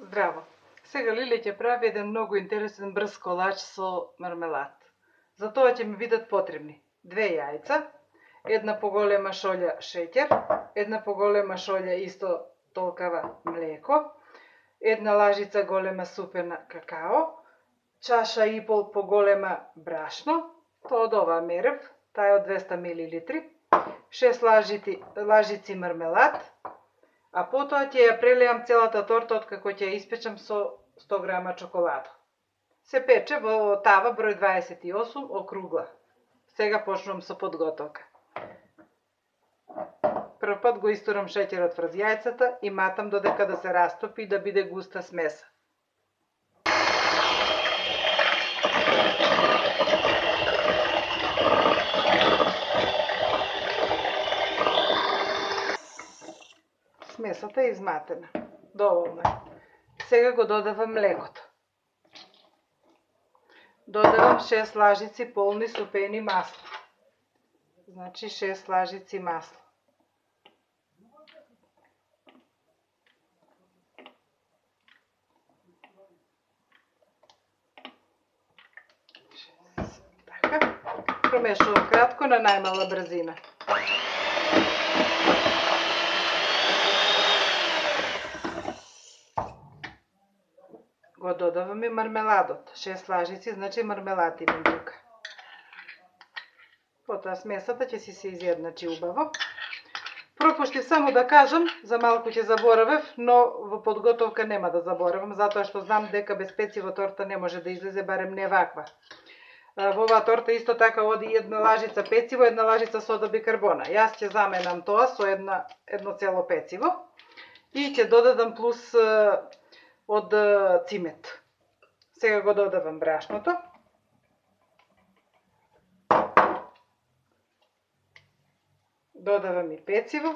Здраво! Сега Лиле ќе прави еден многу интересен брз колач со мармелад. За тоа ќе ми бидат потребни 2 јајца, една поголема шолја шеќер, една поголема шолја исто толкава млеко, една лажица голема супена какао, чаша и пол поголема брашно, тоа од оваа мерев, таа е од 200 мл, 6 лажици мармелад, а потоа ќе ја прелеам целата торта откако ќе ја испечам со 100 грама чоколада. Се пече во тава број 28 округла. Сега почнувам со подготовка. Прв пат го истурам шеќерот врз јајцата и матам додека да се растопи и да биде густа смеса. Смесата е изматена. Доволно е. Сега го додавам млекото. Додавам 6 лажици полни супени масло. Значи 6 лажици масло. Така. Промешувам кратко на најмала брзина. Го додавам и мармеладот. 6 лажици, значи мармелад имам тука. Потоа смесата ќе си се изедначи убаво. Пропуштив само да кажам, за малку ќе заборавев, но во подготовка нема да заборавам, затоа што знам дека без пециво торта не може да излезе, барем не ваква. Во оваа торта исто така оди една лажица пециво, една лажица сода бикарбона. Јас ќе заменам тоа со едно цело пециво и ќе додадам плюс од цимет. Сега го додавам брашното. Додавам и пециво.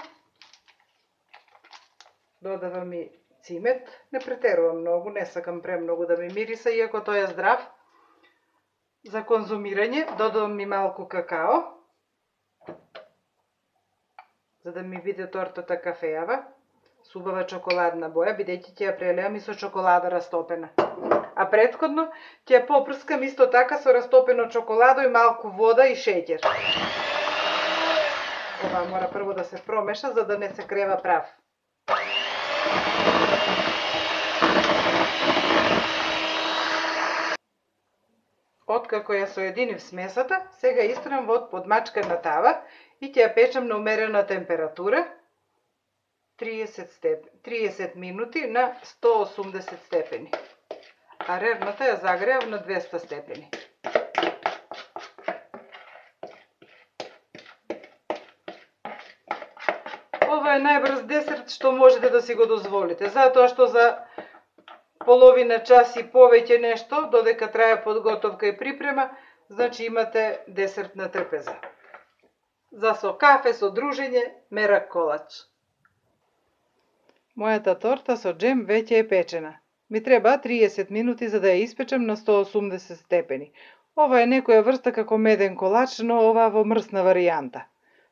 Додавам и цимет. Не претерувам многу, не сакам премногу да ми мириса, иако тој е здрав. За конзумирање додавам и малку какао, за да ми биде тортата кафеава, со убава чоколадна боја, бидејќи ќе ја прелеам и со чоколада растопена. А претходно ќе ја попрскам исто така со растопено чоколадо и малку вода и шеќер. Ова мора прво да се промеша, за да не се крева прав. Откако ја соединив смесата, сега истрам во подмачкана тава и ќе ја печам на умерена температура 30 минути на 180 степени. А рерната ја загреав на 200 степени. Ова е најбрз десерт што можете да си го дозволите, затоа што за половина час и повеќе нешто, додека трае подготовка и припрема, значи имате десерт на трпеза. За со кафе, со дружење, мерак колач. Мојата торта со джем веќе е печена. Ми треба 30 минути за да ја испечам на 180 степени. Ова е некоја врста како меден колач, но ова во мрсна варијанта.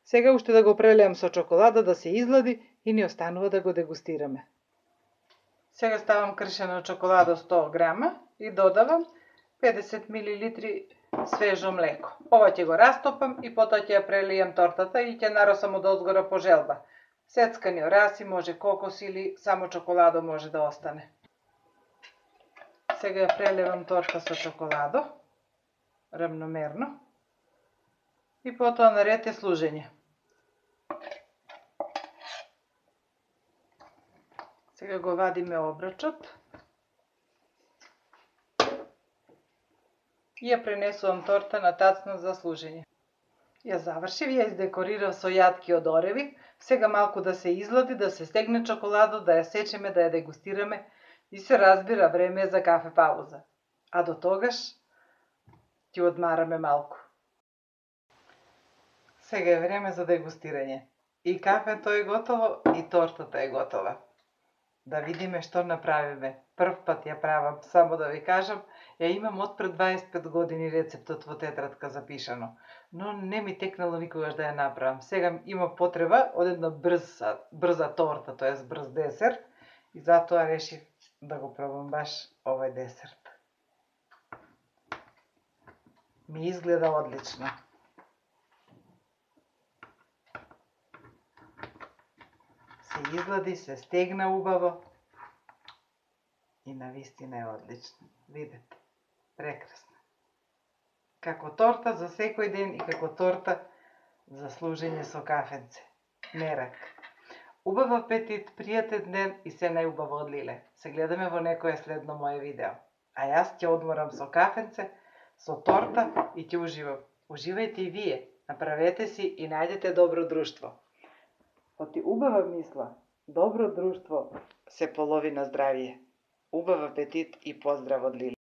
Сега уште да го прелеам со чоколада да се излади и ни останува да го дегустираме. Сега ставам кршено чоколада 100 грама и додавам 50 мл свежо млеко. Ова ќе го растопам и потоа ќе ја прелијам тортата и ќе наросам од озгора по желба. Сецкани ораси, може кокос или само чоколадо може да остане. Сега ја прелевам торта со чоколадо, равномерно. И потоа наред е служење. Сега го вадиме обрачот и ја пренесувам торта на тацна за служење. Ја завршив, ја издекорирав со јатки од ореви, сега малку да се излади, да се стегне чоколадо, да ја сечеме, да ја дегустираме и се разбира, време е за кафе пауза. А до тогаш ќе одмараме малку. Сега е време за дегустирање. И кафето е готово, и тортата е готова. Да видиме што направиме. Прв пат ја правам, само да ви кажам, ја имам од пред 25 години рецептот во тетрадка запишано, но не ми текнало никогаш да ја направам. Сега има потреба од една брза торта, тоест брз десерт, и затоа решив да го пробам баш овој десерт. Ми изгледа одлично. Се излади, се стегна убаво и навистина е одлично. Видете, прекрасно. Како торта за секој ден и како торта за служење со кафенце. Мерак. Убав апетит, пријатен ден и се најубаво од Лиле. Се гледаме во некое следно мое видео. А јас ќе одморам со кафенце, со торта и ќе уживам. Уживајте и вие. Направете си и најдете добро друштво. Оти убава мисла, добро друштво се половина здравие. Убав апетит и поздрав од Лиле.